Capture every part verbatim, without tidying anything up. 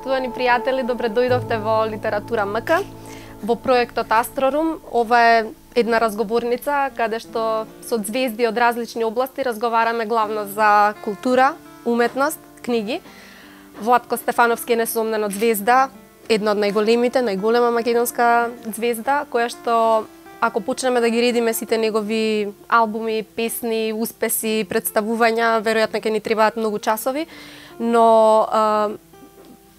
Поштовани пријатели, добре дојдовте во Литература МК, во проектот Астрорум. Ова е една разговорница каде што со звезди од различни области разговараме главно за култура, уметност, книги. Владко Стефановски е несомнено звезда, една од најголемите, најголема македонска звезда, која што ако почнеме да ги редиме сите негови албуми, песни, успеси, представувања, веројатно ќе ни требаат многу часови, но а,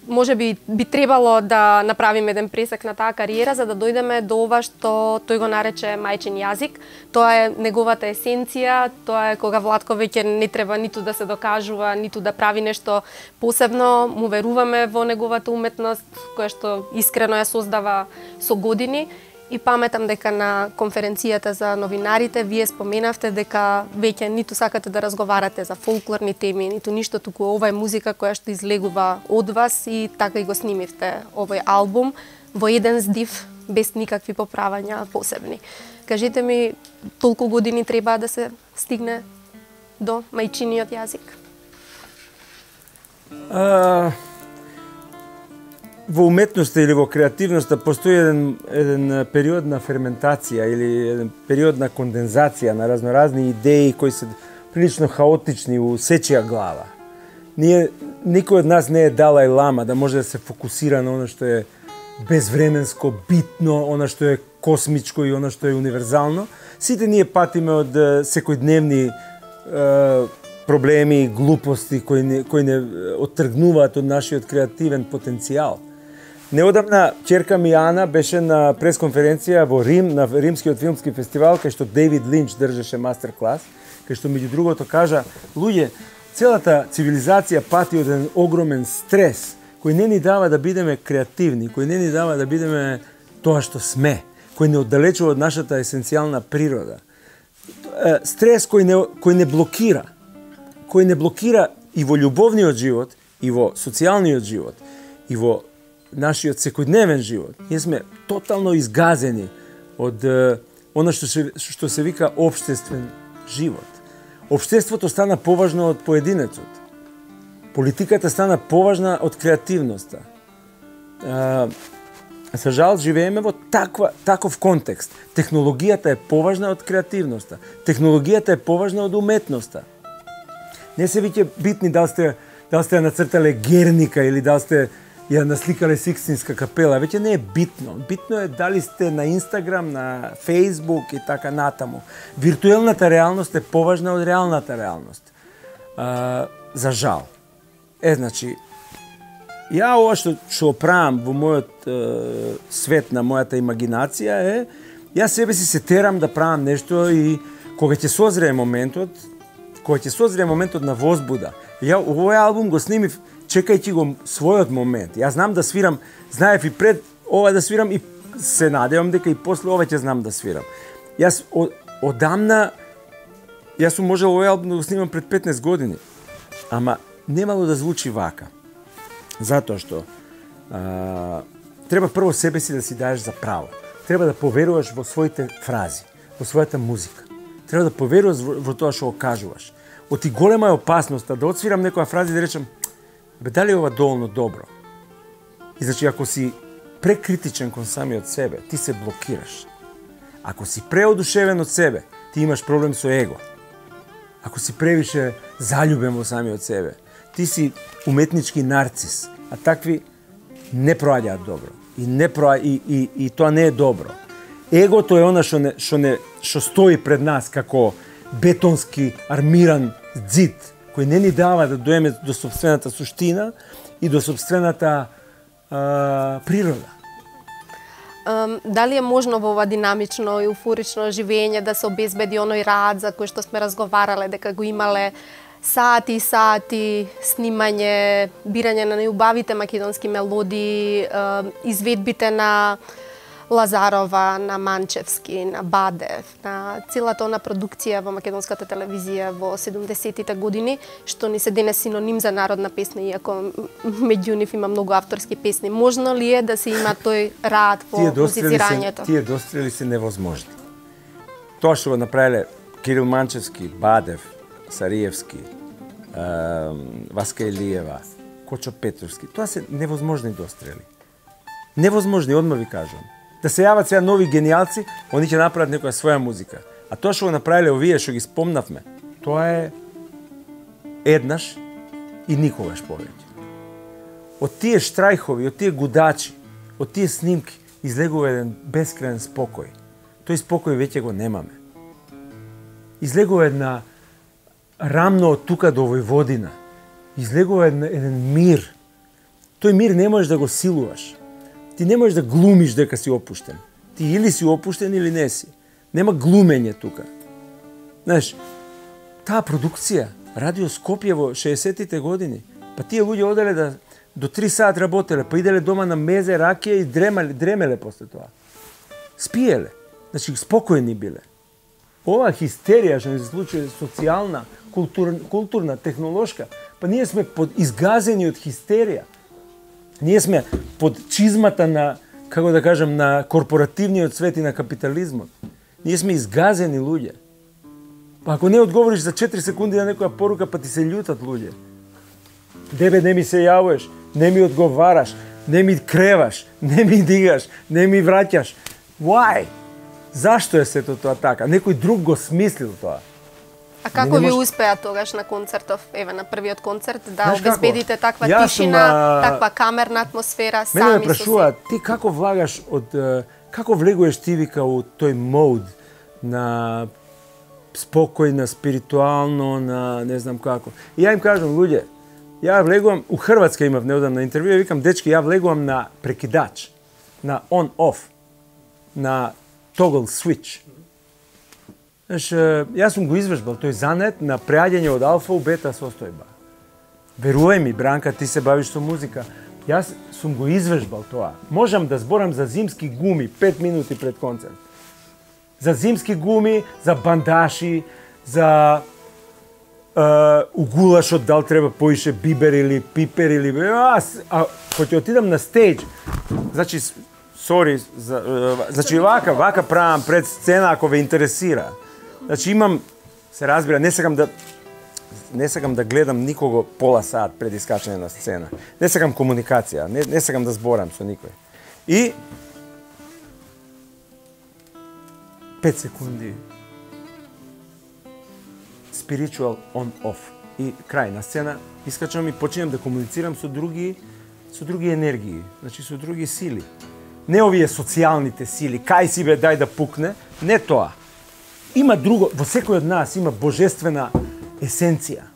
може би би требало да направиме еден пресек на таа кариера за да дојдеме до ова што тој го нарече мајчин јазик. Тоа е неговата есенција, тоа е кога Владко веќе не треба ниту да се докажува, ниту да прави нешто посебно, му веруваме во неговата уметност, која што искрено ја создава со години. И паметам дека на конференцијата за новинарите вие споменавте дека веќе ниту сакате да разговарате за фолклорни теми, ниту ништо, туку ова е музика која што излегува од вас и така и го снимивте овој албум во еден здив, без никакви поправања посебни. Кажете ми, толку години треба да се стигне до мајчиниот јазик? А... Во уметноста или во креативноста постои еден, еден период на ферментација или еден период на кондензација на разноразни идеи кои се прилично хаотични у сечија глава. Ние, никој од нас не е Далај Лама да може да се фокусира на оно што е безвременско, битно, оно што е космичко и оно што е универзално. Сите ние патиме од секојдневни е, проблеми и глупости кои не, кои не оттргнуваат од нашиот креативен потенцијал. Неодамна ќерка ми Ана беше на пресконференција во Рим, на Римскиот филмски фестивал, кај што Дейвид Линч држеше мастер клас, кај што меѓу другото кажа: луѓе, целата цивилизација пати од еден огромен стрес, кој не ни дава да бидеме креативни, кој не ни дава да бидеме тоа што сме, кој не оддалечува од нашата есенцијална природа. Стрес кој не, кој не блокира, кој не блокира и во љубовниот живот, и во социјалниот живот, и во нашиот секојдневен живот. Ние сме тотално изгазени од е, она што се, што се вика општествен живот. Општеството стана поважно од поединецот. Политиката стана поважна од креативноста. Е, за жал, живееме во таква, таков контекст. Технологијата е поважна од креативноста. Технологијата е поважна од уметноста. Не се веќе битни дали сте, дали сте нацртале Герника или дали сте ја насликале Сикстинска капела, веќе не е битно. Битно е дали сте на Инстаграм, на Фейсбук и така натаму. Виртуелната реалност е поважна од реалната реалност. А, за жал. Е, значи, ја ова што што правам во мојот е, свет на мојата имагинација е, ја себе си се терам да правам нешто и кога ќе созрее моментот, кога ќе созрее моментот на возбуда. Ја овој албум го снимив чекајќи го својот момент. Јас знам да свирам, знаев и пред ова да свирам и се надевам дека и после ова ќе знам да свирам. Јас од, одамна, јас сум можел овој албум да го снимам пред петнаесет години, ама немало да звучи вака. Затоа што а, треба прво себе си да си даеш за право. Треба да поверуваш во своите фрази, во својата музика. Треба да поверуваш во, во тоа што го кажуваш. Оти голема е опасноста да отсвирам некоја фраза и да речам: бе, дали е ова доволно добро? И значи, ако си прекритичен кон самиот себе, ти се блокираш. Ако си преодушевен од себе, ти имаш проблем со его. Ако си превише заљубен во самиот себе, ти си уметнички нарцис, а такви не проаѓаат добро. И не проа... и, и, и тоа не е добро. Егото е она што не, што не, што стои пред нас како бетонски армиран ѕид, кој не ни дава да доеме до собствената суштина и до собствената а, природа. Um, дали е можно во ова динамично и еуфорично живење да се обезбеди оној рад за кој што сме разговарале, дека го имале сати и сати снимање, бирање на најубавите македонски мелодии, uh, изведбите на Лазарова, на Манчевски, на Бадев, на целата она продукција во македонската телевизија во седумдесетите години, што ни се денес синоним за народна песна, иако меѓу нив има многу авторски песни. Можно ли е да се има тој рад по музицирањето? Тие дострели се невозможни. Тоа што го направиле Кирил Манчевски, Бадев, Сариевски, Васка Илиева, Кочо Петровски. Тоа се невозможни дострели. Невозможни, одма ви кажувам. Да се јават сега нови гениалци, они ќе направат некоја своја музика. А тоа што го направиле овие, што ги спомнавме, тоа е еднаш и никогаш повеќе. Од тие штрајхови, од тие гудачи, од тие снимки, излегува еден бескрајен спокој. Тој спокој веќе го немаме. Излегува една рамно од тука до Војводина. Излегува еден, еден мир. Тој мир не можеш да го силуваш. Ти не можеш да глумиш дека си опуштен. Ти или си опуштен или не си. Нема глумење тука. Знаеш, таа продукција, Радио Скопје во шеесеттите години, па тие луѓе оделе да до три сат работеле, па иделе дома на мезе, ракија и дремале, дремеле после тоа. Спиеле. Значи, спокојни биле. Ова хистерија што ни се случува социјална, култур, културна, технолошка, па ние сме под изгазени од хистерија. Ние сме под чизмата на, како да кажам, на корпоративниот свет и на капитализмот. Ние сме изгазени луѓе. Па ако не одговориш за четири секунди на некоја порука, па ти се љутат луѓе. Дебе, не ми се јавуваш, не ми одговараш, не ми креваш, не ми дигаш, не ми враќаш. Why? Зашто е сето тоа така? Некој друг го смислил тоа. А како ви мож... успеа тогаш на концертов, еве на првиот концерт, да Знаеш обезбедите како? таква Јас тишина, сум, а... таква камерна атмосфера, сами со Мене ме прашуваат, ти како влагаш од како влегуваш ти вика у тој мод на спокојна, спиритуално, на не знам како. И ја им кажам, луѓе, ја влегувам, у Хрватска имав неодамна интервју, ја викам, дечки, ја влегувам на прекидач, на on-off, на toggle switch. Знаеш, јас сум го извежбал тој занет на преаѓање од алфа у бета состојба. Верувај ми, Бранка, ти се бавиш со музика. Јас сум го извежбал тоа. Можам да зборам за зимски гуми пет минути пред концерт. За зимски гуми, за бандаши, за е, у гулашот дал треба поише бибер или пипер или а, а кога ќе отидам на стејдж, значи сори, за, значи вака, вака правам пред сцена ако ве интересира. Значи имам, се разбира, не сакам да не сакам да гледам никого пола сат пред искачање на сцена. Не сакам комуникација, не, не сакам да зборам со никој. И пет секунди spiritual on off. И крај на сцена искачам и починам да комуницирам со други со други енергии, значи со други сили. Не овие социјалните сили, кај си бе, дај да пукне, не тоа. Има друго, во секој од нас има божествена есенција.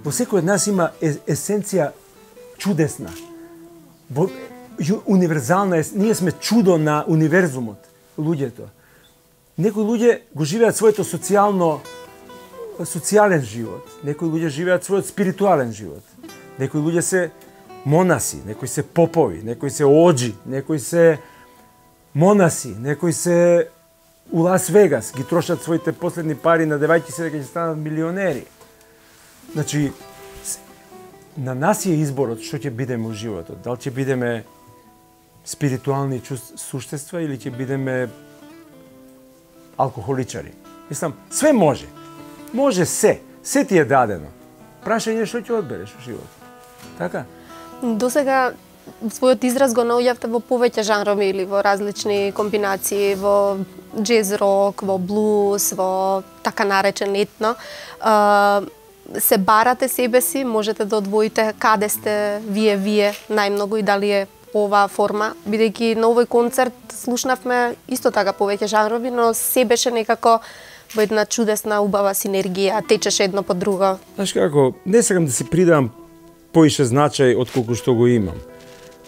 Во секој од нас има есенција чудесна. Во, универзална, ние сме чудо на универзумот, луѓето. Некои луѓе го живеат своето социјално социјален живот, некои луѓе живеат својот спиритуален живот. Некои луѓе се монаси, некои се попови, некои се оџи, некои се монаси, некои се у Лас Вегас, ги трошат своите последни пари надевајќи се дека ќе станат милионери. Значи, на нас е изборот што ќе бидеме во животот. Дали ќе бидеме спиритуални суштества или ќе бидеме алкохоличари. Мислам, све може. Може се. Се ти е дадено. Прашање што ќе одбереш во животот. Така? Досега својот израз го наоѓавте во повеќе жанрови или во различни комбинации, во джез рок, во блуз, во така наречен етно. Се барате себе си, можете да одвоите каде сте вие вие најмногу и дали е оваа форма, бидејќи на овој концерт слушнавме исто така повеќе жанрови, но се беше некако во една чудесна, убава синергија, течеше едно по друго. Знаеш како, не сакам да си придавам поише значај од колку што го имам.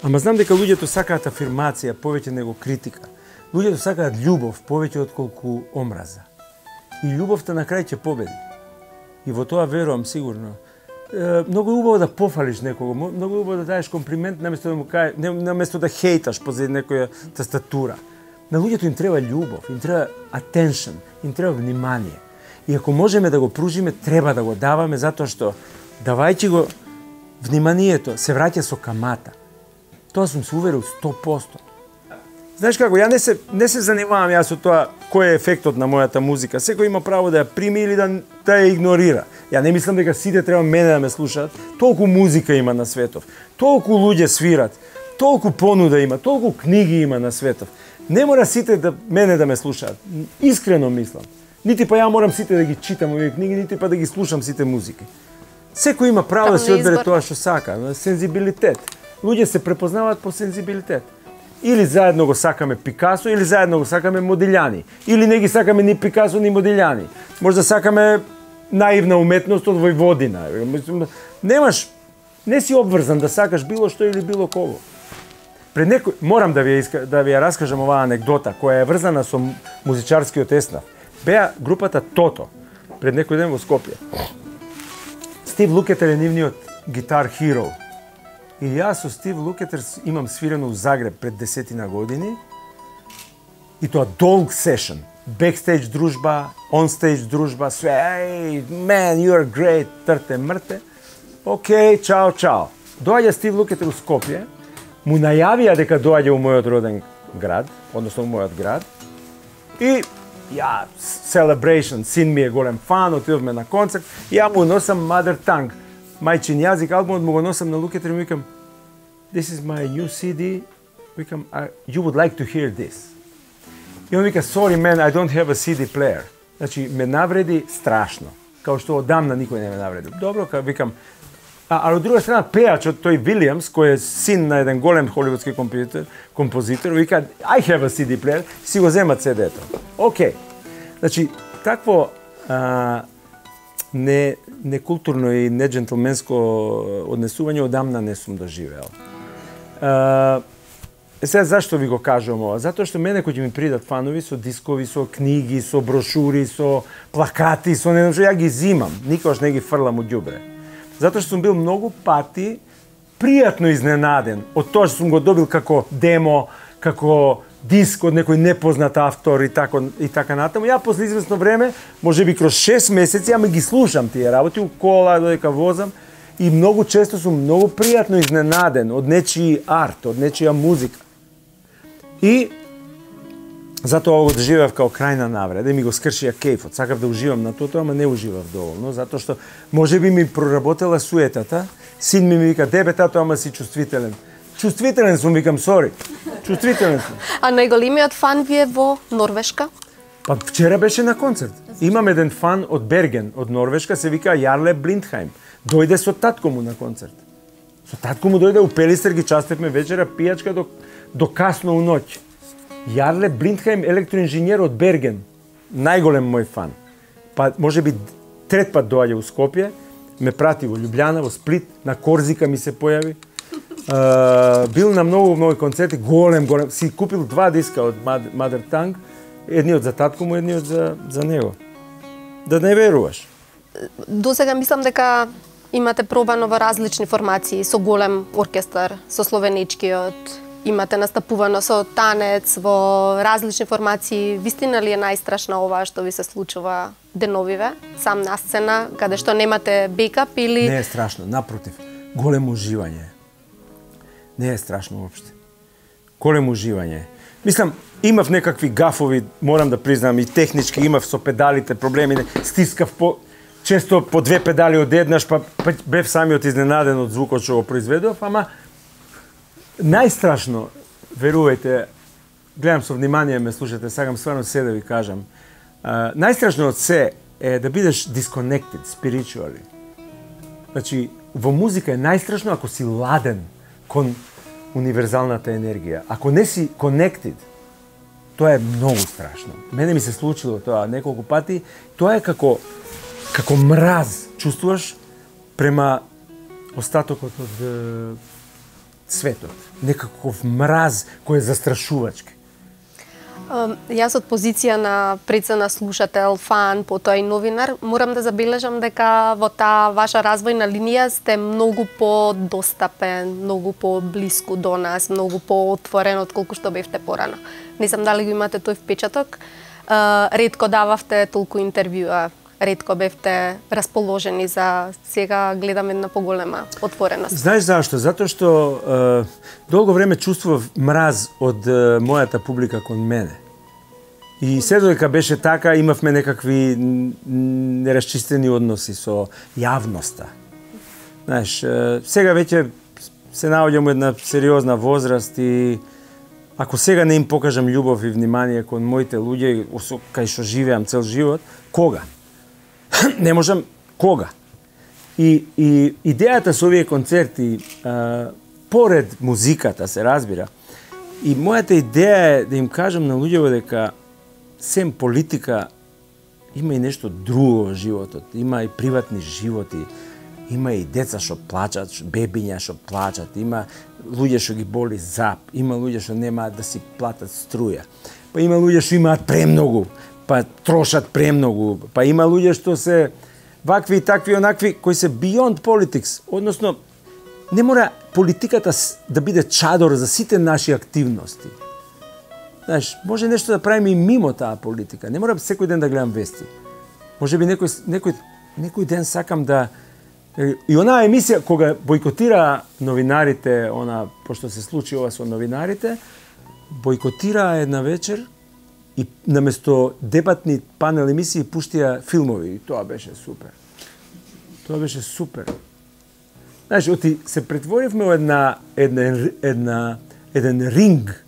Ама знам дека луѓето сакаат афирмација повеќе него критика. Луѓето сакаат љубов повеќе од колку омраза. И љубовта на крај ќе победи. И во тоа верувам сигурно. Е, многу е убаво да пофалиш некого, многу е убаво да даеш комплимент наместо да му кај, не, наместо да хейташ позади некоја тастатура. На луѓето им треба љубов, им треба attention, им треба внимание. И ако можеме да го пружиме, треба да го даваме затоа што давајќи го вниманието се враќа со камата. Тоа сум се уверил сто проценти. Знаеш како, ја не се не се занимавам јас со тоа кој е ефектот на мојата музика. Секој има право да ја прими или да, да ја игнорира. Ја не мислам дека сите треба мене да ме слушаат. Толку музика има на светов. Толку луѓе свират. Толку понуда има, толку книги има на светов. Не мора сите да мене да ме слушаат. Искрено мислам. Нити па ја морам сите да ги читам овие книги, нити па да ги слушам сите музики. Секој има право да си одбере тоа што сака, сензибилитет. Луѓе се препознаваат по сензибилитет. Или заедно го сакаме Пикасо, или заедно го сакаме Модилјани. Или не ги сакаме ни Пикасо, ни Модилјани. Може да сакаме наивна уметност од Војводина. Немаш, не си обврзан да сакаш било што или било кого. Пред некој, морам да ви ја, да ви ја раскажам оваа анекдота, која е врзана со музичарскиот еснав. Беа групата Тото, пред некој ден во Скопје. Стив Лукетер е нивниот гитар хиро. И јас со Стив Лукетер имам свирено у Загреб пред десетина години. И тоа долг сешн. Бекстейдж дружба, онстейдж дружба, све, ей, man, you are great, трте, мрте. Океј, чао, чао. Доаѓа Стив Лукетер у Скопје, му најавија дека доаѓа у мојот роден град, односно у мојот град. И ја, celebration, син ми е голем фан, отидовме на концерт, ја му носам Mother Tongue, мајчин јазик, албумот му го носам на Лукетер и му викам, this is my new си ди, викам, you would like to hear this. И он вика, sorry man, I don't have a си ди player. Значи, ме навреди страшно, као што одамна никој не ме навреди. Добро, ка викам, а, а од друга страна пејачот тој Вилијамс, кој е син на еден голем холивудски композитор, композитор, вика, I have a си ди player, си го земат си ди-то. Океј. Значи, такво а, не некултурно и неджентлменско однесување одамна не сум доживеал. А, сега зашто ви го кажувам ова? Затоа што мене кои ми придат фанови со дискови, со книги, со брошури, со плакати, со не знам што, ја ги зимам, никогаш не ги фрлам у ѓубре. Затоа што сум бил многу пати пријатно изненаден од тоа што сум го добил како демо, како диск од некој непознат автор и така и така натаму. Ја после известно време, можеби кроз шест месеци, ја ме ги слушам тие работи у кола додека возам и многу често сум многу пријатно изненаден од нечiji арт, од нечија музика. И затоа го доживеав као крајна навреда и ми го скршија кејфот. Сакав да уживам на тоа, ама не уживав доволно, затоа што можеби ми проработела суетата. Син ми ми вика, дебе тато, ама си чувствителен. Чувствителен сум, викам, сори. Чувствителен сум. А најголемиот фан ви е во Норвешка? Па вчера беше на концерт. Имам еден фан од Берген, од Норвешка, се вика Јарле Блиндхајм. Дојде со татко му на концерт. Со татко му дојде у Пелистер, ги частевме вечера, пијачка до, до касно у ноќ. Јарле Блиндхајм, електроинженер од Берген. Најголем мој фан. Па можеби трет пат доаѓа у Скопје, ме прати во Љубљана, во Сплит, на Корзика ми се појави. Uh, бил на многу мои концерти, голем, голем. Си купил два диска од Mother Tongue, едниот за татко му, едниот за, за него. Да не веруваш. До сега мислам дека имате пробано во различни формации, со голем оркестар, со словеничкиот, имате настапувано со танец, во различни формации. Вистина ли е најстрашна ова што ви се случува деновиве, сам на сцена, каде што немате бекап или... Не е страшно, напротив, големо уживање. Не е страшно уопште. Големо уживање. Мислам, имав некакви гафови, морам да признам, и технички имав со педалите проблеми, стискав по често по две педали одеднаш, па, па бев самиот изненаден од звукот што го произведов, ама најстрашно, верувајте, гледам со внимание, ме слушате, сакам стварно се да ви кажам, uh, најстрашно од се е да бидеш disconnected, spiritually. Значи, во музика е најстрашно ако си ладен кон универзалната енергија. Ако не си connected, тоа е многу страшно. Мене ми се случило тоа неколку пати. Тоа е како како мраз, чувствуваш према остатокот од е, светот. Некаков мраз кој е застрашувачки. Јас од позиција на прецена слушател, фан, потоа и новинар, морам да забележам дека во таа ваша развојна линија сте многу подостапен, многу поблиску до нас, многу поотворен од колку што бевте порано. Не знам дали го имате тој впечаток. Ретко дававте толку интервјуа, ретко бевте расположени за сега гледам една поголема отвореност. Знаеш зашто? Затоа што е, долго време чувствував мраз од е, мојата публика кон мене. И се додека беше така, имавме некакви нерасчистени односи со јавноста. Знаеш, сега веќе се наоѓам една сериозна возраст и ако сега не им покажам љубов и внимание кон моите луѓе кај што живеам цел живот, кога? Не можам кога? И, и идејата со овие концерти, а, поред музиката се разбира, и мојата идеја е да им кажам на луѓето дека сем политика има и нешто друго во животот, има и приватни животи, има и деца што плачат, бебиња што плачат, има луѓе што ги боли зап, има луѓе што немаат да си платат струја, па има луѓе што имаат премногу, па трошат премногу, па има луѓе што се вакви и такви онакви кои се beyond politics, односно не мора политиката да биде чадор за сите наши активности. Знаеш, може нешто да правиме и мимо таа политика. Не мора секој ден да гледам вести. Може би некој, некој, некој ден сакам да... И онаа емисија, кога бойкотира новинарите, она, пошто се случи ова со новинарите, бойкотира една вечер и наместо дебатни панел емисии пуштија филмови. И тоа беше супер. Тоа беше супер. Знаеш, оти се претворивме во една, една, една, еден ринг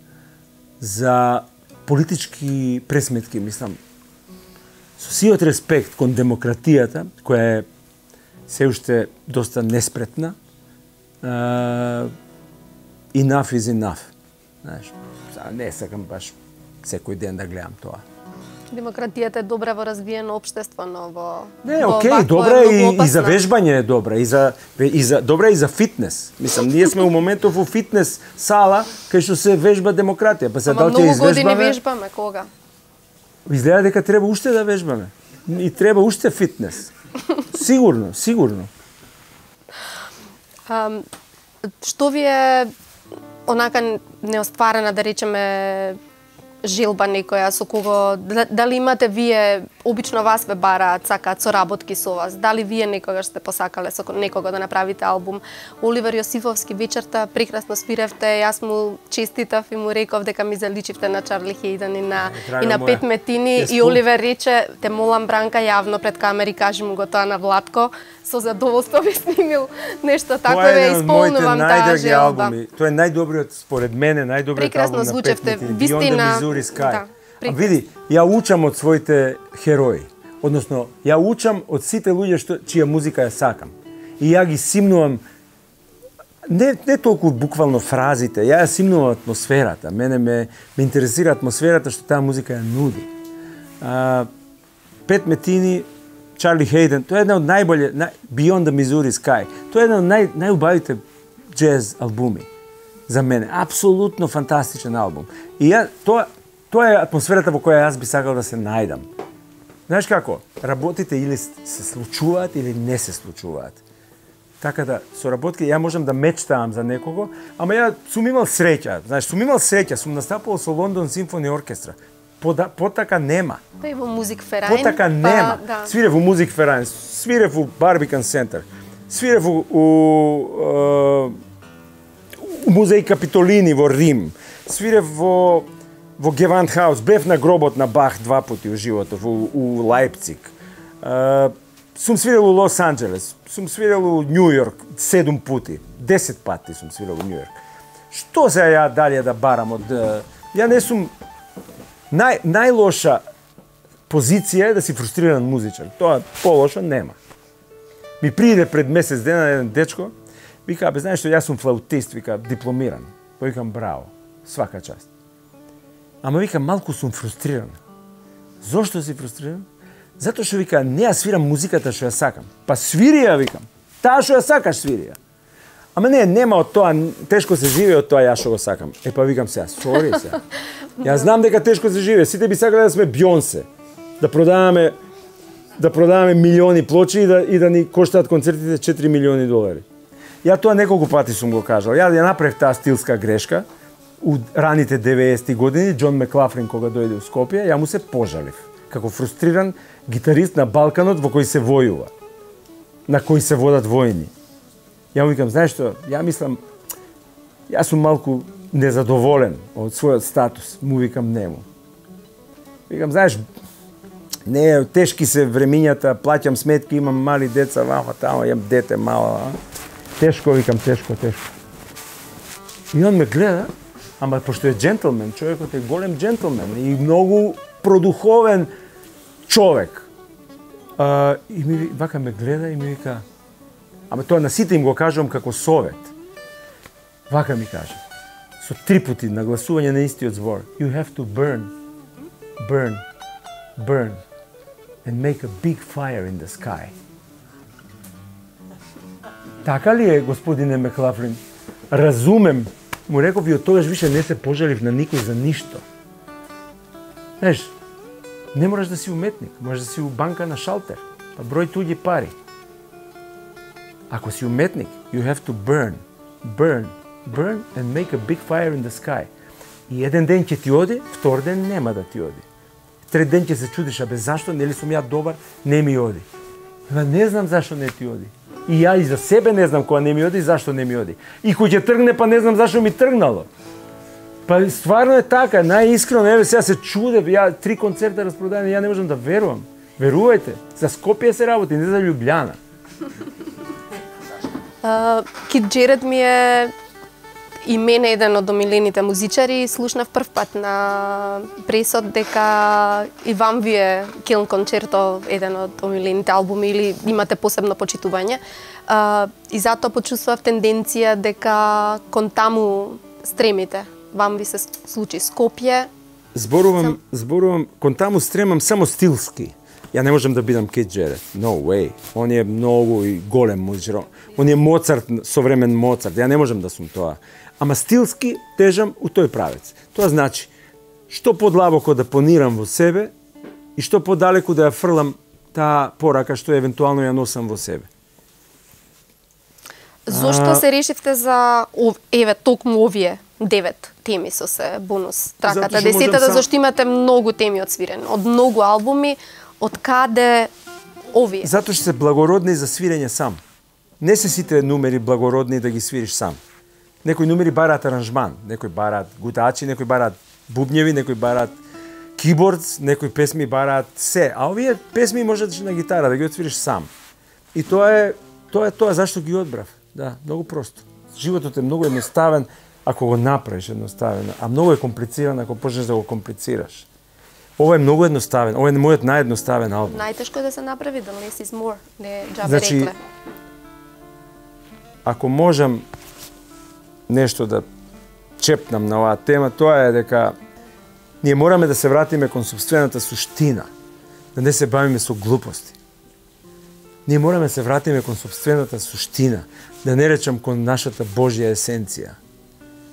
за политички пресметки, мислам. Со сиот респект кон демократијата, која е се уште доста неспретна, uh, enough is enough. Знаеш, не сакам баш секој ден да гледам тоа. Демократијата е добра во развиено општество, но во... Не, окей, добра е и, и за вежбање е добра, и за, и за, добра е и за фитнес. Мислам, ние сме у моментов во фитнес сала, кај што се вежба демократија. Па се Ама дал ќе многу години извежбаме... вежбаме, кога? Изгледа дека треба уште да вежбаме. И треба уште фитнес. Сигурно, сигурно. А, што ви е онака неостварена, да речеме, желба некоја со кого, дали имате вие, обично вас ве бараат, сакаат соработки со вас, дали вие некогаш сте посакале со некого да направите албум? Оливер Јосифовски вечерта прекрасно свиревте, јас му честитав и му реков дека ми заличивте на Чарли Хейден и на, и на Пет Метини, и Оливер рече, те молам Бранка јавно пред камери, кажи му го тоа на Владко, со задоволство би снимил нешто тако, ве исполнувам таа желба. Тоа е најдобриот, според мене, најдобриот албум на Пет Метини, Beyond the Missouri Sky. Да, а види, ја учам од своите херои. Односно, ја учам од сите луѓе што чија музика ја сакам. И ја ги симнувам не не толку буквално фразите, ја ја симнувам атмосферата. Мене ме ме интересира атмосферата што таа музика ја нуди. А, Пет Метини, Чарли Хейден, тоа е една од најболje, Beyond the Missouri Sky. Тоа е една од нај најубавите џез албуми за мене. Апсолутно фантастичен албум. И ја тоа тоа е атмосферата во која јас би сакал да се најдам. Знаеш како? Работите или се случуваат или не се случуваат. Така да соработки ја можам да мечтаам за некого, ама ја сум имал среќа. Знаеш, сум имал среќа, сум настапувал со Лондон Симфони оркестра. Пода, потака нема. Па и во Музик Ферајн. Потака нема. Па, да. Свирев во Музик Ферајн, свирев во Барбикан центар, свирев у, у, у Музеј Капитолини во Рим, свирев во во Гевантхаус, бев на гробот на Бах два пати во животот, во у Лајпциг. Uh, сум свирел у Лос Анџелес, сум свирел у Њу Јорк седум пати, десет пати сум свирел у Њу Јорк. Што се ја далje да барам од... Ја не сум... Нај, најлоша позиција е да си фрустриран музичар. Тоа полошо нема. Ми приде пред месец дена еден дечко, вика, бе, знаеш што, јас сум флаутист, вика, дипломиран. Викам, браво, свака част. Ама вика, малку сум фрустриран. Зошто си фрустриран? Затоа што вика, не ја свирам музиката што ја сакам. Па свири ја, викам. Таа што ја сакаш, свири ја. Ама не, нема од тоа, тешко се живее од тоа ја што го сакам. Е, па викам сега, сори се. Ја знам дека тешко се живее. Сите би сакале да сме Бјонсе. Да продаваме да продаваме милиони плочи и да и да ни коштаат концертите четири милиони долари. Ја тоа неколку пати сум го кажал. Ја ја направив таа стилска грешка у раните деветесети години, Џон Маклафлин кога дојде у Скопје, ја му се пожалив како фрустриран гитарист на Балканот во кој се војува, на кој се водат војни. Ја му викам, знаеш што, ја мислам, јас сум малку незадоволен од својот статус, му викам нему. Викам, знаеш, не, тешки се времињата, плаќам сметки, имам мали деца, вама, тамо, имам дете мало. А? Тешко, викам, тешко, тешко. И он ме гледа, ама пошто е джентлмен, човекот е голем джентлмен и многу продуховен човек. А, и ми вака ме гледа и ми вика, ама тоа на сите им го кажувам како совет. Вака ми каже, со три пути нагласување на истиот збор. You have to burn, burn, burn and make a big fire in the sky. Така ли е, господине Маклафлин? Разумем. Му реков и од тогаш више не се пожалив на никој за ништо. Знаеш, не мораш да си уметник, можеш да си у банка на шалтер, па број туѓи пари. Ако си уметник, you have to burn, burn, burn and make a big fire in the sky. И еден ден ќе ти оди, втор ден нема да ти оди. Трет ден ќе се чудиш, абе зашто, нели сум ја добар, не ми оди. Ама не знам зашто не ти оди. И ја и за себе не знам кога не ми оди, зашто не ми оди. И кој ќе тргне, па не знам зашто ми тргнало. Па стварно е така, најискрено, еве сега се чуде, ја три концерта распродадени, ја не можам да верувам. Верувајте, за Скопје се работи, не за Љубљана. Uh, Кид Џеред ми е и мене еден од омилените музичари. Слушнав прв пат на пресот дека и вам ви е Килн концерто еден од омилените албуми или имате посебно почитување. Uh, и затоа почувствував тенденција дека кон таму стремите. Вам ви се случи Скопје. Зборувам, Сам... зборувам, кон таму стремам само стилски. Ја не можам да бидам Кид Џеред. No way. Он е многу и голем музичар. Он е Моцарт, современ Моцарт. Ја не можам да сум тоа. Ама стилски тежам у тој правец. Тоа значи, што подлабоко да понирам во себе и што подалеку да ја фрлам таа порака што евентуално ја носам во себе. Зошто а... се решивте за еве токму овие девет теми со се бонус траката десетата, сам... зашто имате многу теми одсвирени, од многу албуми, од каде овие? Затоа што се благородни за свирење сам. Не се сите numери благородни да ги свириш сам. Некои numери бараат аранжман, некои бараат гутачи, некои бараат бубњеви, некои бараат кибордс, некои песми бараат се, а овие песми можеш на гитара да ги отсвириш сам. И тоа е тоа е тоа зашто ги одбрав. Да, многу просто. Животот е многу едноставен ако го направиш едноставен, а многу е комплициран ако почнеш да го комплицираш. Ова е многу едноставен, ова е мојот наједноставен албум. Најтешко е да се направи, да less is more, не џабе значи, рекле. Ако можам нешто да чепнам на оваа тема, тоа е дека ние мораме да се вратиме кон сопствената суштина, да не се бавиме со глупости. Ние мораме да се вратиме кон сопствената суштина, да не речам кон нашата Божја есенција.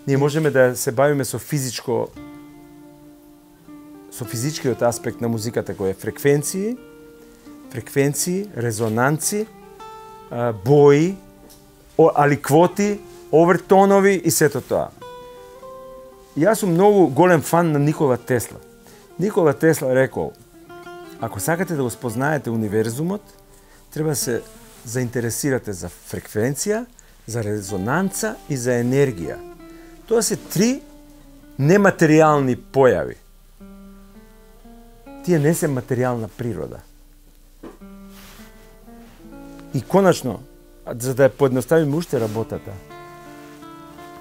Ние можеме да се бавиме со физичко со физичкиот аспект на музиката кој е фреквенции, фреквенции, резонанци, бои, аликвоти, овертонови и сето тоа. Јас сум многу голем фан на Никола Тесла. Никола Тесла рекол, ако сакате да го спознаете универзумот, треба да се заинтересирате за фреквенција, за резонанца и за енергија. Тоа се три нематеријални појави. Тие не се материјална природа. И конечно, за да ја поедноставиме уште работата,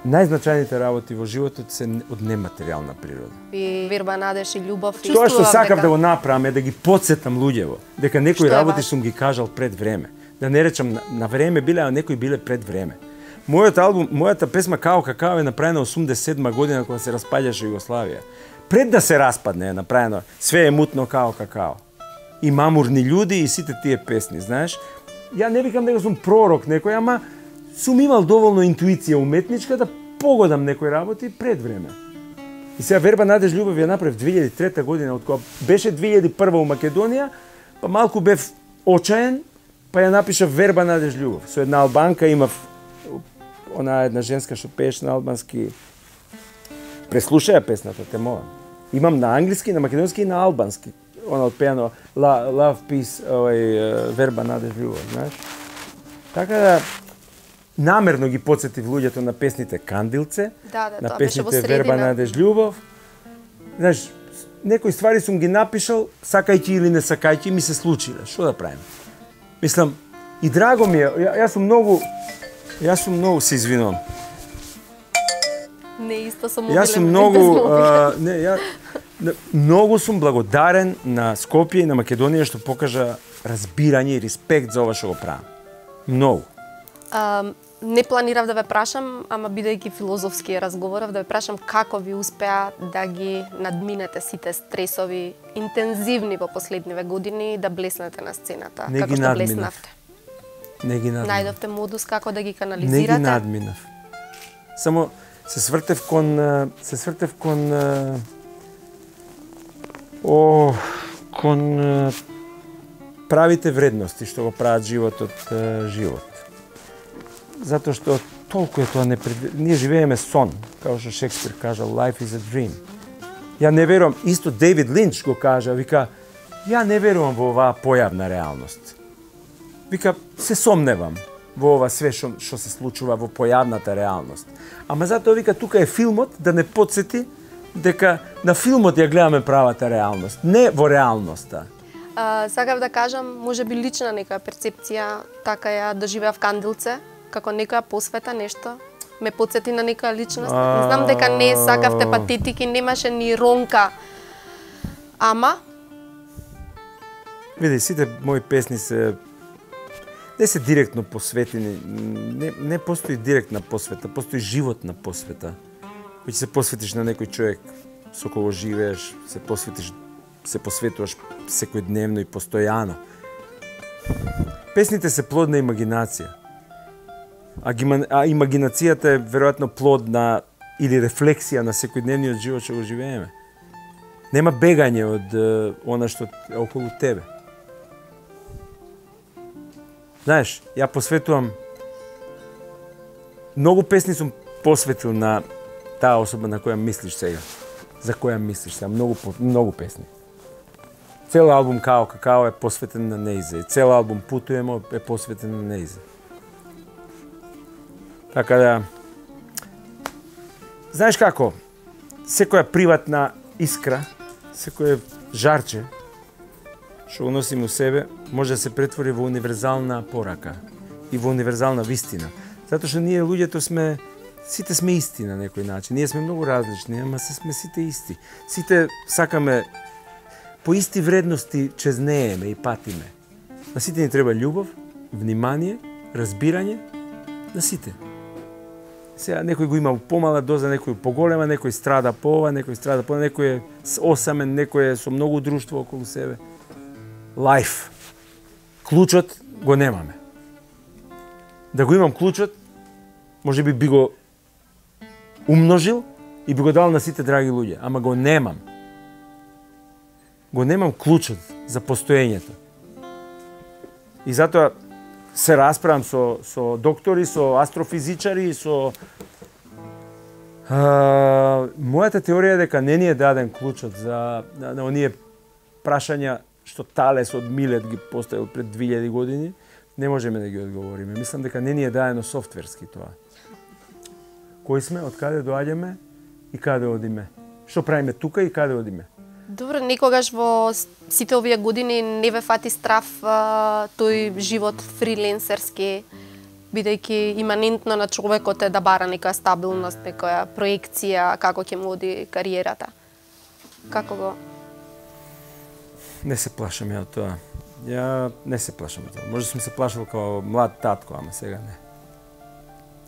најзначајните работи во животот се од нематеријална природа. И верба, надеж и љубов. Тоа што сакав дека... да го направам е да ги потсетам луѓево, дека некои работи сум ги кажал пред време. Да не речам на, на време биле, а некои биле пред време. Мојот албум, мојата песма Као какао е направена осумдесет и седма година кога се распаѓаше Југославија. Пред да се распадне е направено Све е мутно као какао. И Мамурни људи и сите тие песни, знаеш. Ја не викам дека сум пророк некој, ама сум имал доволно интуиција уметничка да погодам некои работи пред време. И сега Верба, надеж, љубов ја направив две илјади и трета година, од кога беше две илјади и прва у Македонија, па малку бев очаен, па ја напишав Верба, надеж, љубов. Со една албанка имав она една женска што пееше на албански. Преслушаја песната, те молам. Имам на англиски, на македонски и на албански. Она отпеано Love, Peace, овај Верба, надеж, љубов, знаеш. Така да намерно ги потсетив луѓето на песните Кандилце, да, да, на песните Верба, надеж, љубов. Знаеш, некои ствари сум ги напишал, сакајќи или не сакајќи, ми се случиле. Што да правим? Мислам, и драго ми е, ја, јас сум многу, јас сум многу, се извинувам. Не исто сум Јас сум многу, а, не, ја, многу сум благодарен на Скопје и на Македонија што покажа разбирање и респект за ова што го правам. Многу. А, не планирав да ве прашам, ама бидејќи филозофски разговорав, да ве прашам како ви успеа да ги надминете сите стресови интензивни во последниве години и да блеснете на сцената, не како што надминав. блеснавте. Не ги надминав. Најдовте модус како да ги канализирате? Не ги надминав. Само се свртев кон се свртев кон о кон правите вредности што го прават животот живот. Затоа што толку е тоа непред... ние живееме сон, како што Шекспир кажал, life is a dream. Ја не верувам, исто Дейвид Линч го кажа, вика, ја не верувам во оваа појавна реалност. Вика, се сомневам во ова све што што се случува во појавната реалност. Ама затоа вика тука е филмот да не потсети дека на филмот ја гледаме правата реалност, не во реалноста. А, сакав да кажам, може би лична некоја перцепција, така ја доживеав Кандилце, како некоја посвета нешто, ме потсети на некоја личност. А... Не знам дека не сакавте патетики, немаше ни ронка. Ама види, сите мои песни се не се директно посветени, не, не постои директна посвета, постои животна посвета. Кој се посветиш на некој човек со кого живееш, се посветиш, се посветуваш секојдневно и постојано. Песните се плод на имагинација. А, а имагинацијата е веројатно плод на или рефлексија на секојдневниот живот што го живееме. Нема бегање од е, она што е околу тебе. Знаеш, ја посветувам многу песни сум посветил на таа особа на која мислиш сега. За која мислиш сега, многу многу песни. Цел албум Као Какао е посветен на нејзе. Цел албум Путуемо е посветен на нејзе. Така да, знаеш како, секоја приватна искра, секој жарче, што го носим у себе, може да се претвори во универзална порака и во универзална вистина. Затоа што ние луѓето сме, сите сме исти на некој начин. Ние сме многу различни, ама се сме сите исти. Сите сакаме по исти вредности чезнееме и патиме. На сите ни треба љубов, внимание, разбирање, на сите. Сега некој го има помала доза, некој поголема, некој страда по ова, некој страда по ова, некој е осамен, некој е со многу друштво околу себе. Лајф. Клучот го немаме. Да го имам клучот, може би би го умножил и би го дал на сите драги луѓе, ама го немам. Го немам клучот за постоењето. И затоа се расправам со, со доктори, со астрофизичари, со... А, мојата теорија е дека не ни е даден клучот за на, на оние прашања што Талес од Милет ги поставил пред две илјади години, не можеме да ги одговориме. Мислам дека не ни е дадено софтверски тоа. Кои сме, од каде доаѓаме и каде одиме? Што правиме тука и каде одиме? Добро, никогаш во сите овие години не ве фати страф а, тој живот фриленсерски, бидејќи иманентно на човекот е да бара некоја стабилност, некоја проекција, како ќе му оди кариерата. Како го? Не се плашам ја од тоа. Ја не се плашам од тоа. Може сум се плашал како млад татко, ама сега не.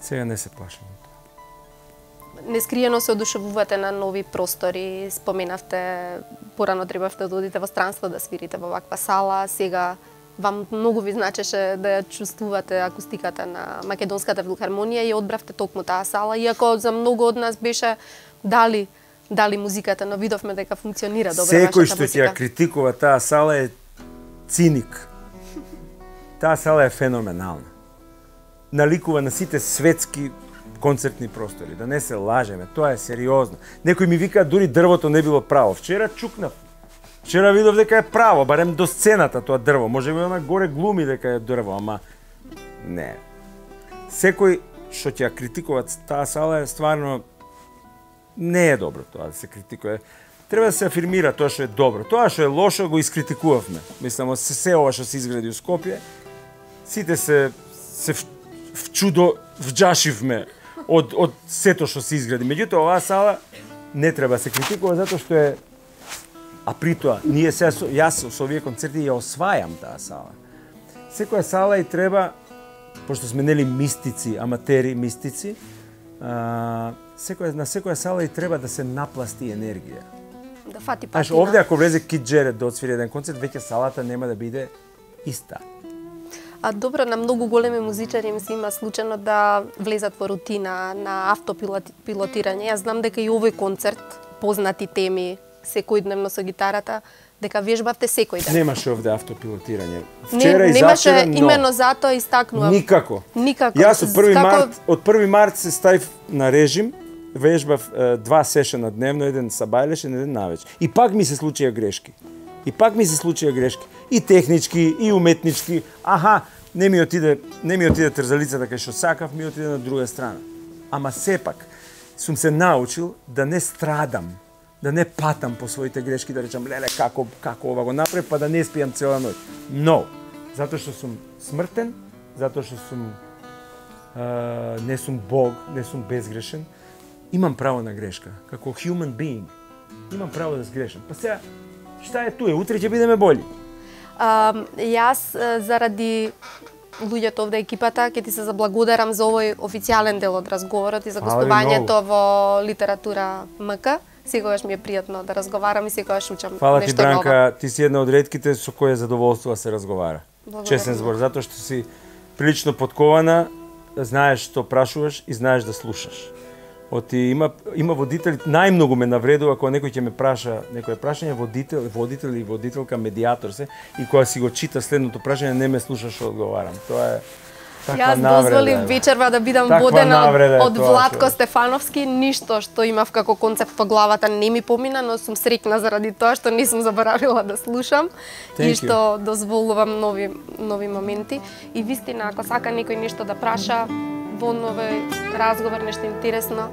Сега не се плашам од тоа. Нескриено се одушевувате на нови простори, споменавте, порано требавте да одите во странство да свирите во ваква сала, сега вам многу ви значеше да ја чувствувате акустиката на Македонската филхармонија и одбравте токму таа сала, иако за многу од нас беше дали дали музиката, но видовме дека функционира добро вашата музика. Секој што ќе ја критикува таа сала е циник. Таа сала е феноменална. Наликува на сите светски концертни простори, да не се лажеме, тоа е сериозно. Некој ми вика дури дрвото не било право. Вчера чукнав. Вчера видов дека е право, барем до сцената тоа дрво. Може би она горе глуми дека е дрво, ама не. Секој што ќе критикува таа сала е стварно не е добро тоа да се критикува. треба да се афирмира тоа што е добро. Тоа што е лошо го искритикувавме. Мислам, се се ова што се изгради у Скопје, сите се се вчудо вџашивме од од сето што се изгради. Меѓутоа оваа сала не треба да се критикува затоа што е, а при тоа ние се јас со овие концерти ја освајам таа сала. Секоја сала и треба, пошто сме нели мистици, аматери мистици, а, секоја на секоја сала и треба да се напласти енергија. Да фати Знаеш, патина. овде ако влезе Кид Джеред да отсвири еден концерт, веќе салата нема да биде иста. А добро, на многу големи музичари им се има случајно да влезат во рутина на автопилотирање. Јас знам дека и овој концерт, познати теми, секојдневно со гитарата, дека вежбавте секој ден. Немаше овде автопилотирање. Не, Вчера и немаше, завчера, но именно затоа истакнувам. никако. Никако. Јас од први Како- март, од први март се ставив на режим, вежбав е, два сешена дневно, еден сабајлешен, еден навеќе. И пак ми се случија грешки. И пак ми се случија грешки. И технички, и уметнички. Аха, не ми отиде, не ми отиде трзалицата кај што сакав, ми отиде на друга страна. Ама сепак сум се научил да не страдам, да не патам по своите грешки, да речам леле како како ова го направи, па да не спијам цела ноќ. Но, затоа што сум смртен, затоа што сум а, не сум Бог, не сум безгрешен, имам право на грешка, како human being. Имам право да сгрешам. Па сега, шта е туе? Утре ќе бидеме бољи. А, јас е, заради луѓето овде екипата ќе ти се заблагодарам за овој официјален дел од разговорот и за Фала ви гостувањето во Литература МК. Секогаш ми е пријатно да разговарам и секогаш учам Фала ти, нешто Бранка, ново. ти си една од ретките со која задоволство да се разговара. Благодарам Чесен многу. збор, затоа што си прилично подкована, знаеш што прашуваш и знаеш да слушаш. Оти има има водители, најмногу ме навредува кога некој ќе ме праша некое прашање, водител, водител или водителка, медиатор се, и кога си го чита следното прашање не ме слуша што одговарам. Тоа е таква Јас навреда. дозволив е. вечерва да бидам Таква водена навреда е од, од тоа, Владко човек. Стефановски, ништо што имав како концепт во главата не ми помина, но сум среќна заради тоа што не сум заборавила да слушам Thank и you. што дозволувам нови нови моменти. И вистина, ако сака некој нешто да праша во нови разговор, нешто интересно,